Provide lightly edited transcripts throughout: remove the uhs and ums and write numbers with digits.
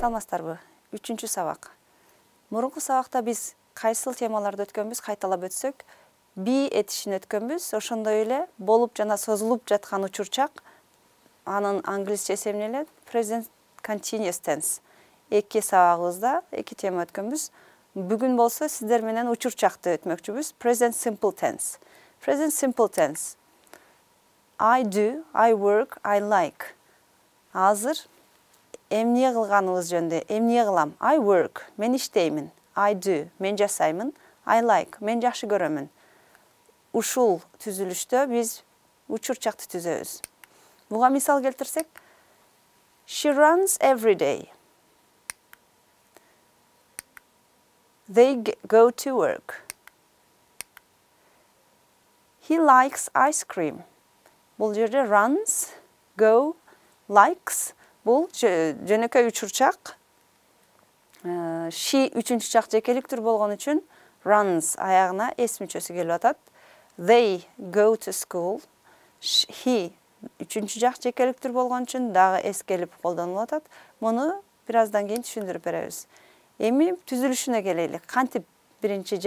Саламатсыздарбы? 3-чү сабак. Мурунку сабакта биз кайсыл темаларды өткөнбүз, кайталап өтсөк, be этишин өткөнбүз. Ошондой эле болуп жана созулуп жаткан учурчак, анын англисчеси эмне эле? Present continuous tense. 2 сабагыбызда 2 тема өткөнбүз. Бүгүн болсо сиздер менен учурчакты өтмөкчүбүз. Present simple tense. Present simple tense. I do, I work, I like. Азыр эмне кылганыбыз жөнүндө, эмне кылам? I work, мен иштеймин. I do, мен жасаймын. I like, мен жакшы көрөмүн. Ушул түзүлүштө биз учурчакты түзөбүз. Буга мисал келтирсек, she runs every day. They go to work. He likes ice cream. Бул жерде runs, go, likes. Бул жөнөкөй учурчак. She үчүнчү чак жекеликтүр болгон үчүн runs аягына s мүчөсү келип атат. They go to school. He үчүнчү жак жекеликтүр болгон үчүн дагы s келип колдонулуп атат. Муну бир аздан кийин түшүндүрүп беребиз. Эми түзүлүшүнө келели. Кантип биринчи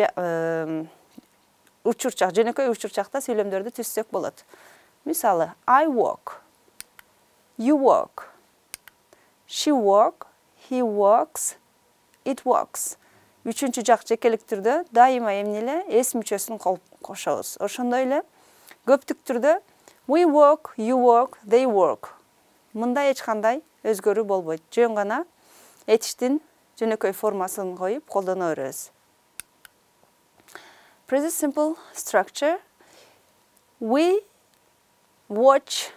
учурчак, жөнөкөй учурчакта сүйлөмдөрдү түзсөк болот. Мисалы, I walk. You walk. She walk. He walks. It walks. Үчүнчү жак жекелик түрдө дайыма эмне эле s мүчөсүн кошобуз. Ошондой эле көптүк түрдө we walk, you walk, they walk. Мында эч кандай өзгөрүү болбойт. Жөн гана этиштин жөнөкөй формасын коюп колдоно беребиз. Present simple structure. We watch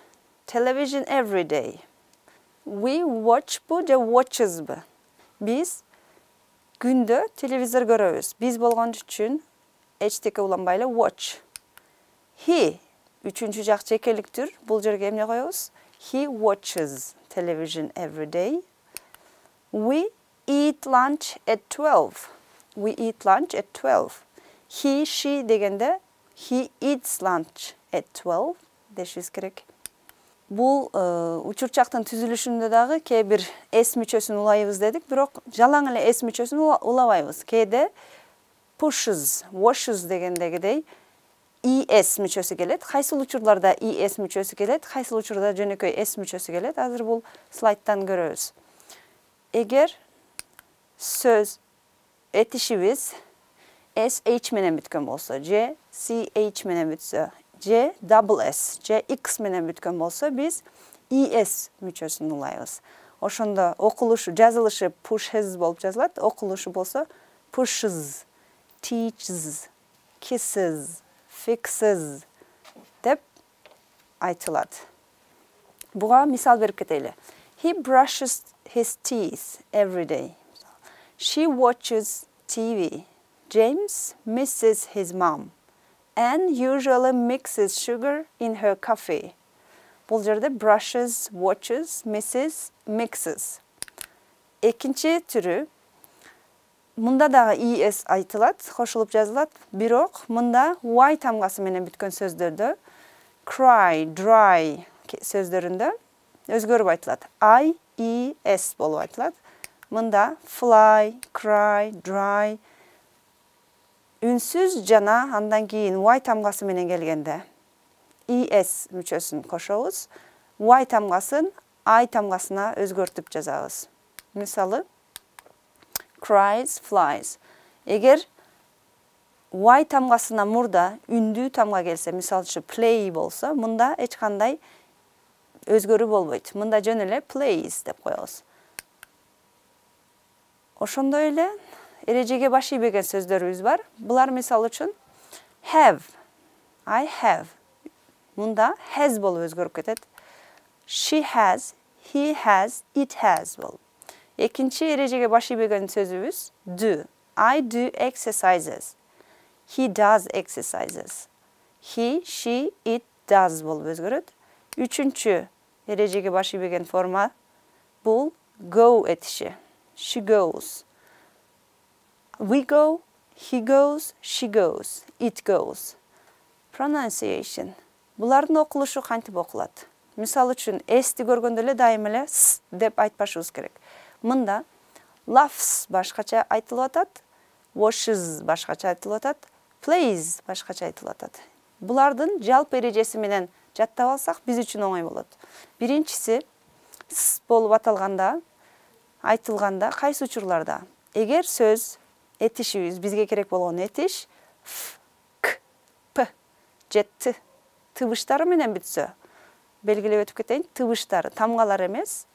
television every day. We watch bu же watches bu. Биз күндө телевизор көрөбүз. Биз болгон үчүн эчтеке уланбай эле watch. He үчүнчү жак жекеликтүр. Бул жерге эмне коебуз? He watches television every day. We eat lunch at 12. We eat lunch at 12. He, she дегенде he eats lunch at 12 дешибиз керек. Бул учурчактын түзүлүшүндө дагы кээ бир s мүчөсүн улайбыз дедик, бирок жалаң эле s мүчөсүн улабайбыз. Кээде pushes, washes дегендегидей es мүчөсү келет. Кайсыл учурларда es мүчөсү келет, кайсыл учурда жөнөкөй s мүчөсү келет. Азыр бул слайдтан көрөбүз. Эгер сөз этишибиз sh менен бүткөн болсо, же ch менен бүтсө, же double s, же x менен бүткөн болсо, биз es мүчөсүн улайбыз. Ошондо окулушу, жазылышы pushes болуп жазылат, окулушу болсо pushes, teaches, kisses, fixes деп айтылат. Буга мисал берип кетели. He brushes his teeth every day. She watches TV. James misses his mom and usually mixes sugar in her coffee. Бул жерде brushes, watches, misses, mixes. Экинчи түрү, мында дагы es айтылат, кошулуп жазылат, бирок мында y тамгасы менен бүткөн сөздөрдө cry, dry сөздөрүндө өзгөрүп айтылат. I, es болуп айтылат. Мында fly, cry, dry үнсүз жана андан кийин y тамгасы менен келгенде es мүчөсүн кошобуз. Y тамгасын I тамгасына өзгөртүп жазабыз. Мисалы, cries, flies. Эгер y тамгасына мурда үндүү тамга келсе, мисалчы play болсо, мында эч кандай өзгөрүү болбойт. Мында жөн эле plays деп коебуз. Ошондой эле эрежеге баш ийбеген сөздөрүбүз бар. Булар мисал үчүн have, I have. Мында has болуп өзгөрүп кетет. She has, he has, it has болуп. Экинчи эрежеге баш ийбеген сөзүбүз do. I do exercises. He does exercises. He, she, it does болуп өзгөрөт. Үчүнчү эрежеге баш ийбеген форма бул go этиши. She goes. We go, he goes, she goes, it goes. Pronunciation. Булардын окулушу кантип окулат? Мисал үчүн, эсти көргөндө эле дайым эле с деп айтпашыбыз керек. Мында laughs башкача айтылып атат, watches башкача айтылып атат, plays башкача айтылып атат. Булардын жалпы эрежеси менен жаттап алсак, биз үчүн оңой болот. Биринчиси с болуп аталганда, айтылганда кайсы учурларда? Эгер сөз этишибиз, бизге керек болгон этиш ф, к, п же т тыбыштары менен бүтсө, белгилеп өтүп кетейин, тыбыштары, тамгалар эмес.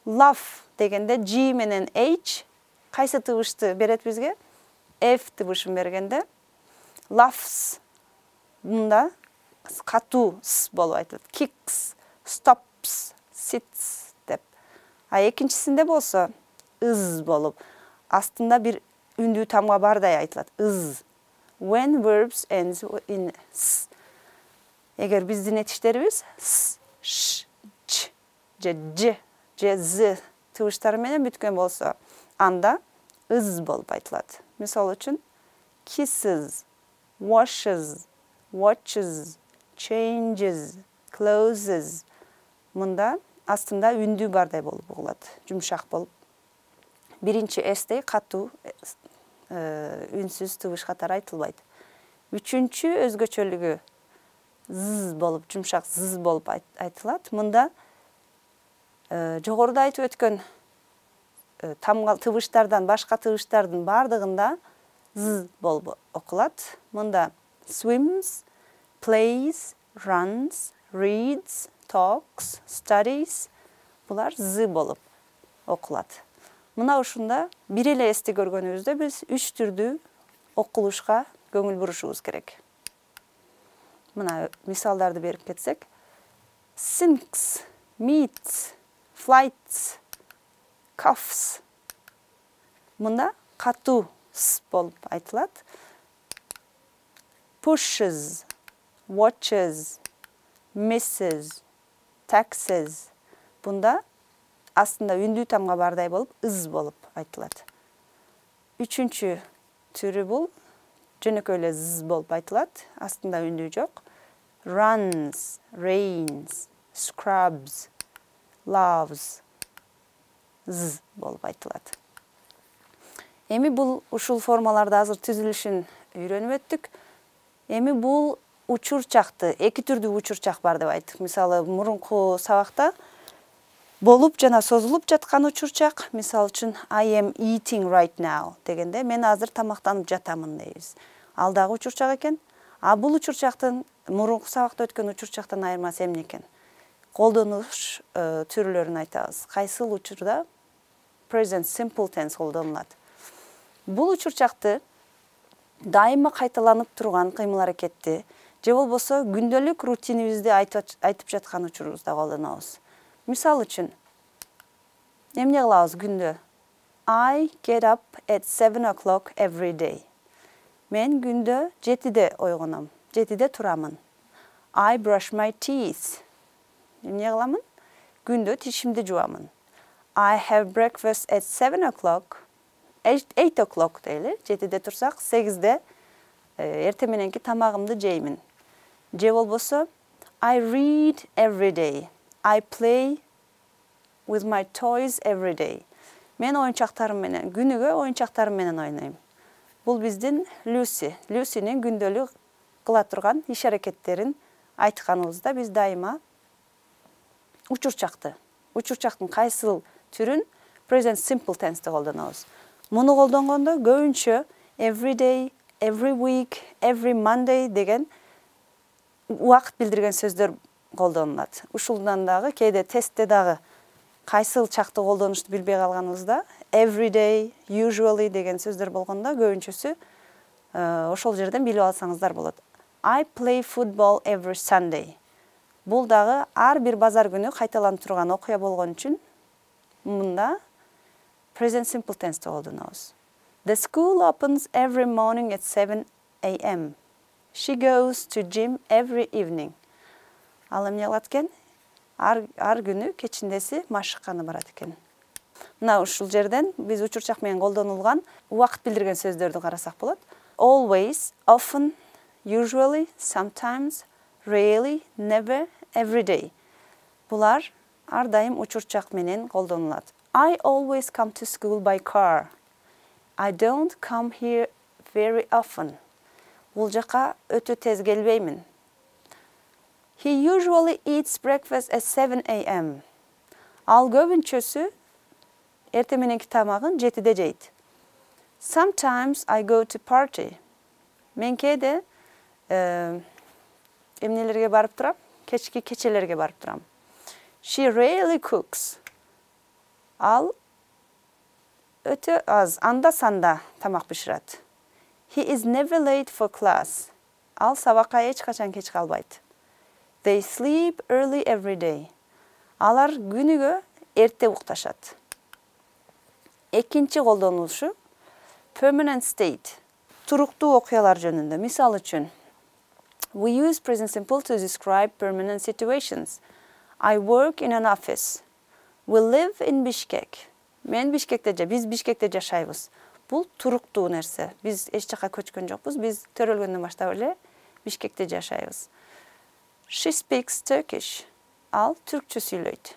Laugh дегенде G менен H кайсы тыбышты берет бизге? F тыбышын бергенде laughs мында катуу с болуп айтылат. Kicks, stops, sits деп. А экинчисинде болсо is болуп, астында бир үндүү тамга бардай айтылат. Is. When verbs ends in s. Эгер биздин этиштерибиз с, ш, ч же ж же з тыбыштары менен бүткөн болсо, анда is болуп айтылат. Мисал үчүн kisses, washes, watches, changes, closes. Мында астында үндүү бардай болуп угулат, жумшак болуп. Биринчи эстей катуу үнсүз тыбыш катары айтылбайт. Үчүнчү өзгөчөлүгү з болуп, жумшак з болуп айтылат. Мында жогоруда айтып өткөн тамгал тыбыштардан башка тыбыштардын бардыгында з болуп окулат. Мында swims, plays, runs, reads, talks, studies булар з болуп окулат. Мына ушунда бир эле эсти көргөнүбүздө биз 3 түрдүү окулушка көңүл бурушубуз керек. Мына мисалдарды берип кетсек, sinks, meets, flights, coughs. Мында катуу с болуп айтылат. Pushes, watches, misses, taxes. Бунда астында үндүү тамга бардай болуп, is болуп айтылат. Үчүнчү түрү бул жөнөкөй эле z болуп айтылат, астында үндүү жок. Runs, rains, scrubs, loves, z болуп айтылат. Эми бул ушул формаларды азыр түзүлүшүн үйрөнүп өттүк. Эми бул учурчакты, эки түрдүү учурчак бар деп айттык. Мисалы, мурунку сабакта болуп жана созулуп жаткан учурчак, мисал үчүн I am eating right now дегенде мен азыр тамактанып жатамын дейбиз. Ал дагы учурчак экен. А бул учурчактын мурунку сабакта өткөн учурчактан айырмасы эмне экен? Колдонуш түрлөрүн айтабыз. Кайсыл учурда present simple tense колдонулат. Бул учурчакты дайыма кайталанып турган кыймыл-аракетти же болбосо күндөлүк рутинибизди айтып жаткан учурубузда колдонобуз. Мисал үчүн, эмне кылабыз күндө? I get up at 7 o'clock every day. Мен күндө 7-де ойгоном, 7-де турамын. I brush my teeth. Эмне кыламын? Күндө тишимди жуамын. I have breakfast at 7 o'clock. 8 o'clock дейли, 7-де турсак, 8-де эртең мененки тамагымды жеймин. Же болбосо, I read every day. I play with my toys every day. Мен оюнчактарым менен, күнүгө оюнчактарым менен ойнойм. Бул биздин Люси. Люсинин күндөлүк кыла турган иш-аракеттерин айтканыбызда биз дайыма учурчактын кайсыл түрүн present simple tense'те колдонобуз. Муну колдонгондо көбүнчө every day, every week, every Monday деген убакыт билдирген сөздөр колдонулат. Ушулдан дагы кээде тестте дагы кайсыл чакты колдонушту билбей калганыбызда every day, usually деген сөздөр болгондо көбүнчөсү ошол жерден билип алсаңыздар болот. I play football every Sunday. Бул дагы ар бир базар күнү кайталанып турган окуя болгон үчүн мында present simple tense'те колдонобуз. The school opens every morning at 7 a.m. She goes to gym every evening. Ал эмне кылат экен? Ар күнү кечиндеси машыкканы барат экен. Мына ушул жерден биз учурчак менен колдонулган убакыт билдирген сөздөрдү карасак болот. Always, often, usually, sometimes, rarely, never, every day. Булар ар дайым учурчак менен колдонулат. I always come to school by car. I don't come here very often. Бул жака өтө тез келбеймин. He usually eats breakfast at 7 a.m. Ал көбүнчөсү эртең мененки тамагын 7-де жейт. Sometimes I go to party. Мен кээде эмнелерге барып турам? Кечки кечелерге барып турам. She rarely cooks. Ал өтө аз, анда-санда тамак бишират. He is never late for class. Ал сабакка эч качан кеч калбайт. They sleep early every day. Алар күнүгө эрте укташат. Экинчи колдонулушу permanent state. Туруктуу окуялар жөнүндө. Мисал үчүн, we use present simple to describe permanent situations. I work in an office. We live in Bishkek. Биз Бишкекте жашайбыз. Бул туруктуу нерсе. Биз эч жака көчкөн жокпуз. Биз төрөлгөндөн баштап эле Бишкекте жашайбыз. She speaks Turkish. Ал түркчө сүйлөйт.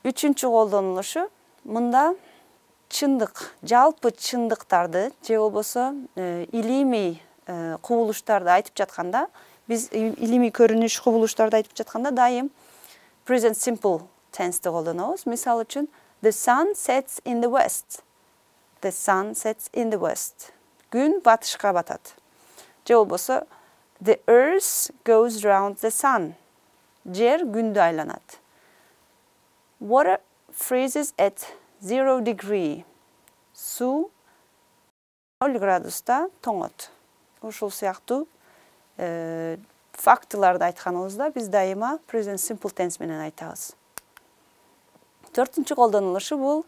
Үчүнчү колдонулушу мында чындык, жалпы чындыктарды же болбосо илимий кубулуштарды айтып жатканда, биз илимий көрүнүш кубулуштарды айтып жатканда дайым present simple tense'ти колдонобуз. Мисал үчүн, the sun sets in the west. The sun sets in the west. Күн батышка батат. Же болбосо, the earth goes round the sun. Жер күндү айланат. Water freezes at 0 degree. Суу 0 градуста тоңот. Ушул сыяктуу фактыларды айтканыбызда биз дайыма present simple tense менен айтабыз. Төртүнчү колдонулушу бул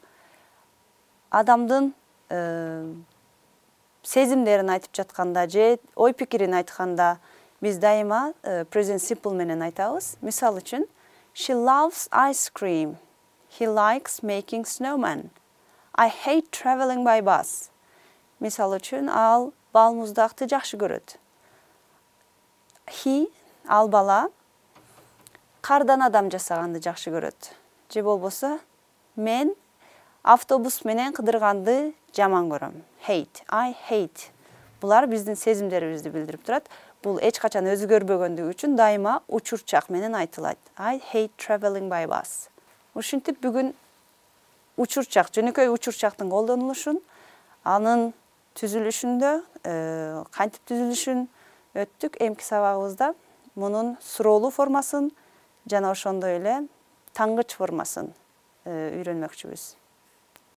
адамдын сезимдерин айтып жатканда же ой пикирин айтканда биз дайыма present simple менен айтабыз. Мисал үчүн, she loves ice cream. He likes making snowmen. I hate traveling by bus. Мисал үчүн, ал балмуздакты жакшы көрөт. He, ал бала, кардан адам жасаганды жакшы көрөт. Же болбосо, мен автобус менен кыдырганды жаман көрөм. Hate, I hate. Булар биздин сезимдерибизди билдирип турат. Бул эч качан өзгөрбөгөндүгү үчүн дайыма учурчак менен айтылат. I hate traveling by bus. Ушинтип бүгүн учурчак, жөнөкөй учурчактын колдонулушун, анын түзүлүшүндө, кантип түзүлүшүн өттүк. Эмки сабагыбызда мунун суроолуу формасын жана ошондой эле тангыч формасын үйрөнмөкчүбүз.